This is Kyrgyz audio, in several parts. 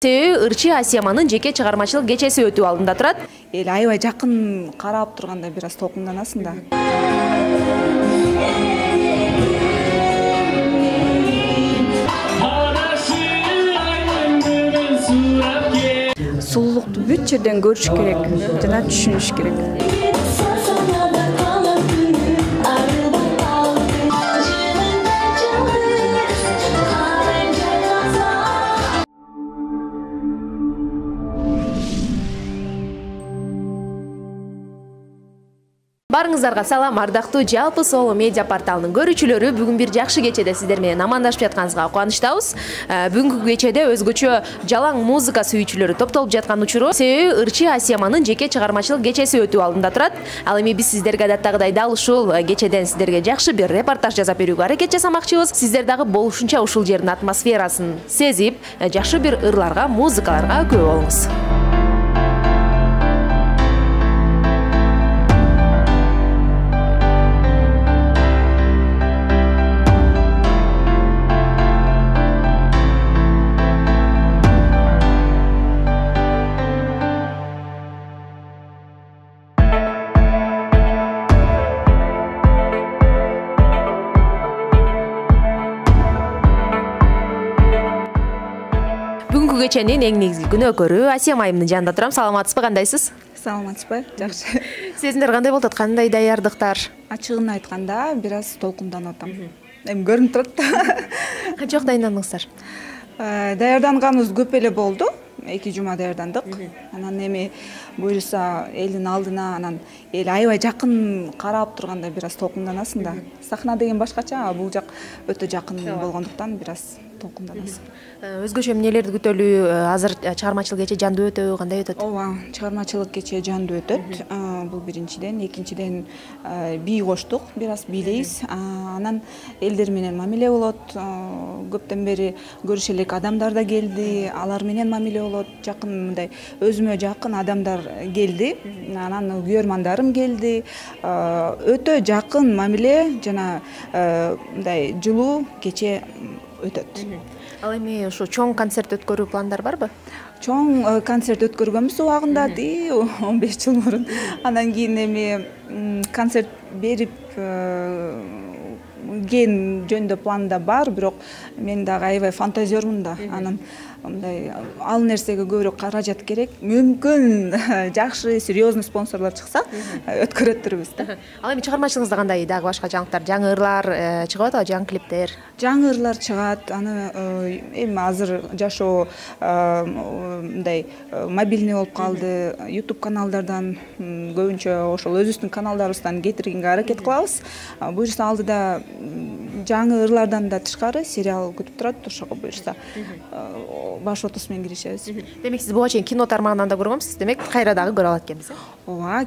Себеби ырчы Асияманын жеке чыгармачылык кечеси өтүү алдында турат. Эл аябай жакын карап турганда бир аз толкунданасың да. Сулуулукту бүт жерден көрүш керек жана түшүнүш керек. Барыңыздарга салам, ардактуу жалпы Соло медиа порталынын көрүүчүлөрү. Бүгүн бир жакшы кечеде сиздер менен амандашып жатканыбызга кубанычтабыз. Бүгүнкү кечеде өзгөчө жалаң музыка сүйүүчүлөрү топтолуп жаткан учуру. Себеби ырчы Асияманын жеке чыгармачылык кечеси өтүү алдында турат. Ал эми биз сиздерге адаттагыдай дал ушул кечеден сиздерге жакшы бир репортаж жасап берүүгө аракет жасамакчыбыз. Сиздер дагы болушунча ушул жердин атмосферасын сезип, жакшы бир ырларга, музыкаларга күбө болуңуз. Бүгүнкү кеченин эң негизги күнөөкөрү Асиям айымдын жанында турам. Саламатсызбы, кандайсыз? Саламатсызбы? Жакшы. Сезимдер кандай болуп атат? Кандай даярдыктар? Ачыгын айтканда бир аз толкунданып атам. Эми көрүнүп турат. Канчалык дайындандыңыздар? Даярданганыбыз көп эле болду. 2 жума даярдандык. Анан эми буюрса элдин алдына, анан эл аябай жакын карап турганда бир аз толкунданасың да. Сахна деген башкача, бул жак өтө жакын болгондуктан бир аз толкунданасың. Өзгөчө эмнелерди күтөлүү? Азыр чыгармачылык кече жандуу өтөбү, кандай өтөт? Ооба, чыгармачылык кече жандуу өтөт. Бул биринчиден, экинчиден бий коштук, бир аз бийлейбиз. Анан элдер менен мамиле болот. Көптөн бери көрүшө элек адамдар да келди, алар менен мамиле болот. Жакын мындай өзүмө жакын адамдар келди. Анан күйөрмандарым келди. Өтө жакын мамиле жана мындай жылуу кече өтөт. Ал эми ушу чоң концерт өткөрүү пландар барбы? Чоң концерт өткөргөнбүз убагында 15 жыл мурун. Анан кийин эми концерт берип кийин жөнүндө планда бар, бирок мен дагы аябай фантазермун да. Анан мындай ал нерсеге көбүрөөк каражат керек. Мүмкүн жакшы, серьезный спонсорлор чыкса, өткөрөттүрбүз да. Ал эми чыгармачылыгыңызда кандай дагы башка жаңылыктар, жаңы ырлар чыгып атабы, жаңы клиптер? Жаңы ырлар чыгат. Аны эми азыр жашоо мындай мобильный болуп калды. YouTube каналдардан көбүнчө ошол өзүбүздүн каналдарыбыздан кетиргенге аракет кылабыз. Буюрса алдыда жаңы ырлардан да тышкары сериал күтүп турат, ошого буюрса баш отусу менен киришебиз. Демек сиз буга чейин кино тармагынан да көргөнсүз, демек кайра дагы көрө алат экенбиз. Ооба,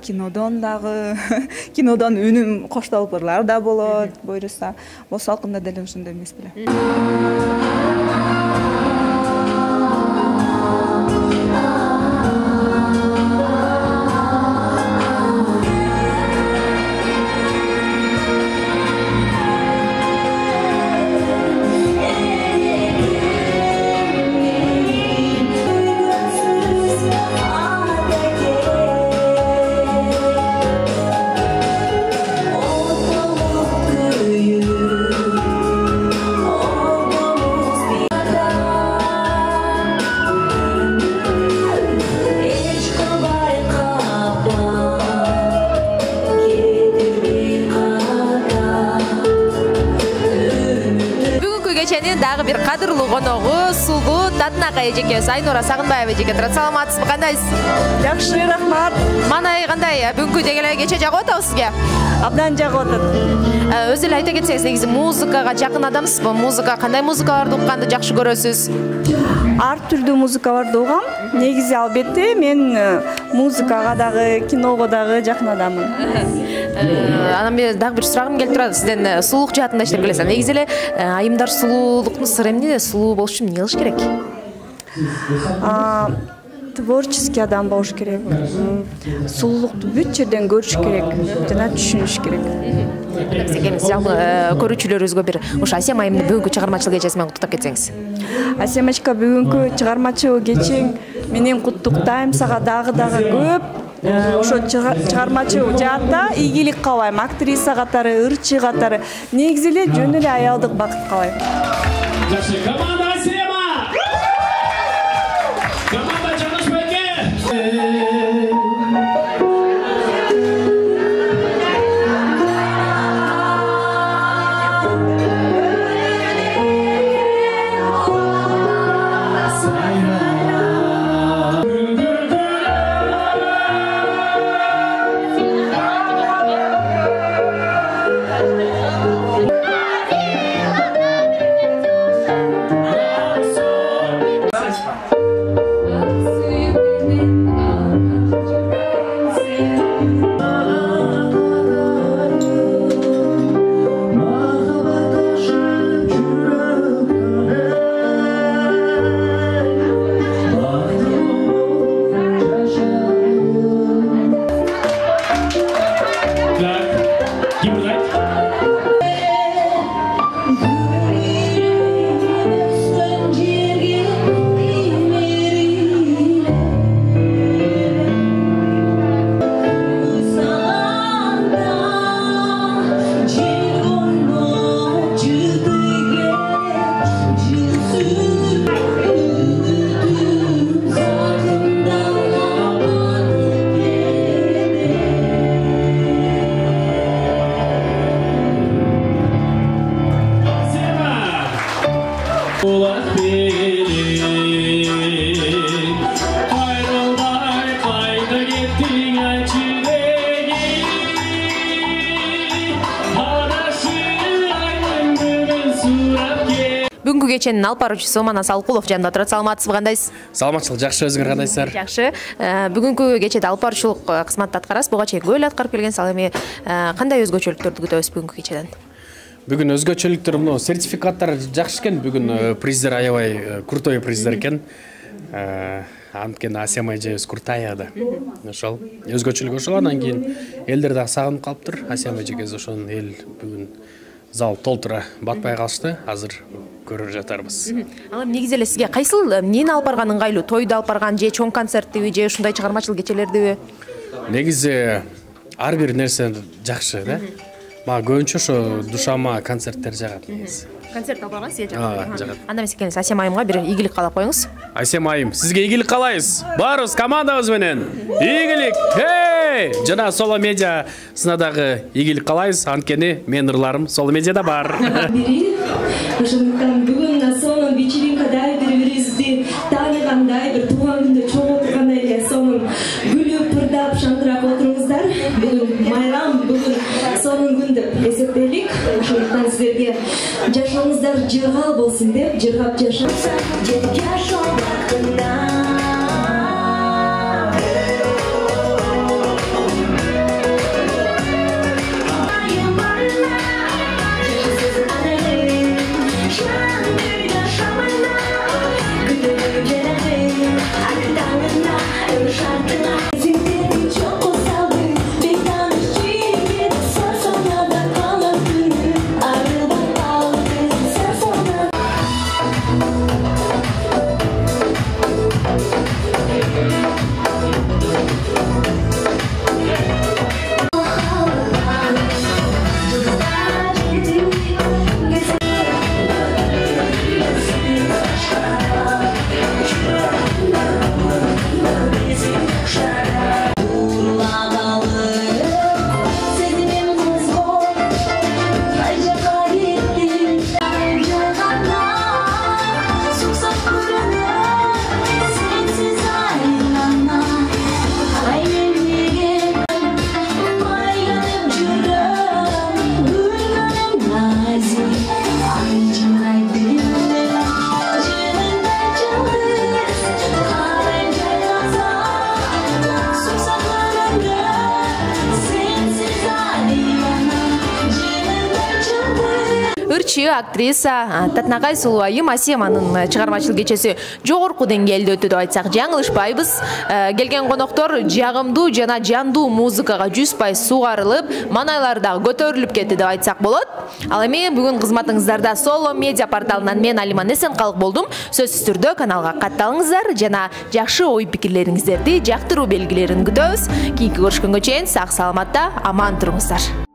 кинодон үнүм коштолуп ырлар да болот, буюрса бос салкында деле ошондой эмес беле. Дагы бир кадырлуу коногу, сулуу Татынакай эжекебиз, Айнура Сагынбаева эжеке турат. Саламатсызбы, кандайсыз? Жакшы, рахмат. Манай кандай? Бүгүнкү деги эле кече жагып атабы сизге? Абдан жагып атат. Өзү эле айта кетсеңиз, негизи музыкага жакын адамсызбы? Музыка кандай музыкаларды укканды жакшы көрөсүз? Ар түрдүү музыкаларды угам. Негизи албетте мен музыкага дагы, киного дагы жакын адаммын. Анан мен дагы бир сурагым келип турат. Сизден сулуулук жаатында иштеп келесиз. Негизи эле айымдар сулуулуктун сыры эмне? Сулуу болуш үчүн эмне кылыш керек? Творческий адам болуш керек. Сулуулукту бүт жерден көрүш керек жана түшүнүш керек. Жалпы көрүүчүлөрүбүзгө бир ушу Асиям айымдын бүгүнкү чыгармачылык кечеси менен куттуктап кетсеңиз. Асемочка, бүгүнкү чыгармачыл кечең менен куттуктайм сага дагы көп. Ошо чыгармачыл жаатта ийгилик каалайм. Актриса катары, ырчы катары, негизи эле жөн эле аялдык бакыт каалайм. Жакшы, команда Асема! Команда Жанышбайке! Бүгүнкү кеченин алып баруучусу Манас Алкулов жанында турат. Саламатсызбы, кандайсыз? Саламатчылык жакшы, өзүңөр кандайсыздар? Жакшы. Бүгүнкү кечеде алып баруучулук кызматты аткарасыз. Буга чейин көп эле аткарып келгенсиз. Ал эми кандай өзгөчөлүктөрдү күтөбүз бүгүнкү кечеден? Бүгүн өзгөчөлүктөр мына сертификаттар жакшы экен. Бүгүн приздер аябай крутой приздер экен. Анткени Асема эжебиз крутая да. Ошол өзгөчөлүк ошол. Андан кийин элдер дагы сагынып калыптыр. Асема эжебиз ошон эл бүгүн зал толтура батпай калышты. Азыр көрүп жатарбыз. Ал эми негизи эле сизге кайсыл эмнени алып барган ыңгайлуу? Тойду алып барган же чоң концерттиби же ушундай чыгармачыл кечелердиби? Негизи ар бир нерсе жакшы да. Мага көбүнчө ошо душама концерттер жагат негизи. Концерт алып барган сизге жагат. Жагат. Анда эмес экенсиз, Асема айымга бир ийгилик каалап коюңуз. Асема айым, сизге ийгилик каалайбыз. Баарыбыз командабыз менен. Ийгилик. Жана Соло медиасына дагы ийгилик каалайбыз. Анткени менин ырларым Соло медиада бар. Ошондуктан бүгүн сонун вечеринкада бири-бирибизди тааныгандай, бир тууган күндө чогуу отургандай эле сонун күлүп, ырдап, шаңкырап отуруңуздар. Бүгүн майрам, бүгүн сонун күн деп эсептейлик. Ошондуктан силерге жашооңуздар жыргал болсун деп жыргап жашаңыздар. актриса Татнакай Сулуу айым Асеманын чыгармачылык кечеси жогорку деңгээлде өтү деп айтсак жаңылышпайбыз. Келген коноктор жагымдуу жана жандуу музыкага 100% сугарылып, манайлар дагы көтөрүлүп кетти деп айтсак болот. Ал эми бүгүн кызматыңыздарда Solo Media порталынан мен Алима Несенкалык болдум. Сөзсүз түрдө каналга катталыңыздар жана жакшы ой пикирлериңиздерди жактыруу белгилерин күтөбүз. Кийинки көрүшкөнгө чейин сак саламатта аман туруңуздар.